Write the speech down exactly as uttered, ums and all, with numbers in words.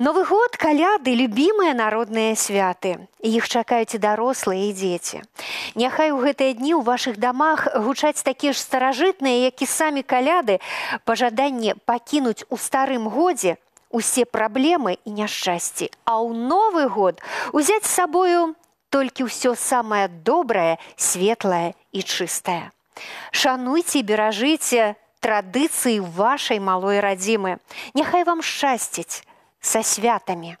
Новы год, каляды, любімыя народныя святы. Іх чакаюць і дарослыя, і дзеці. Няхай у гэтыя дні ў вашых дамах гучаць такія ж старажытныя, як і самі каляды, пажаданне пакінуць у старым годзе усе праблемы і няшчасці, а ў Новы год узяць з сабою толькі ўсё самае добрае, светлае і чыстае. Шануйце і беражыце традыцыі вашай малой радзімы. Няхай вам шчасціць. Со святами!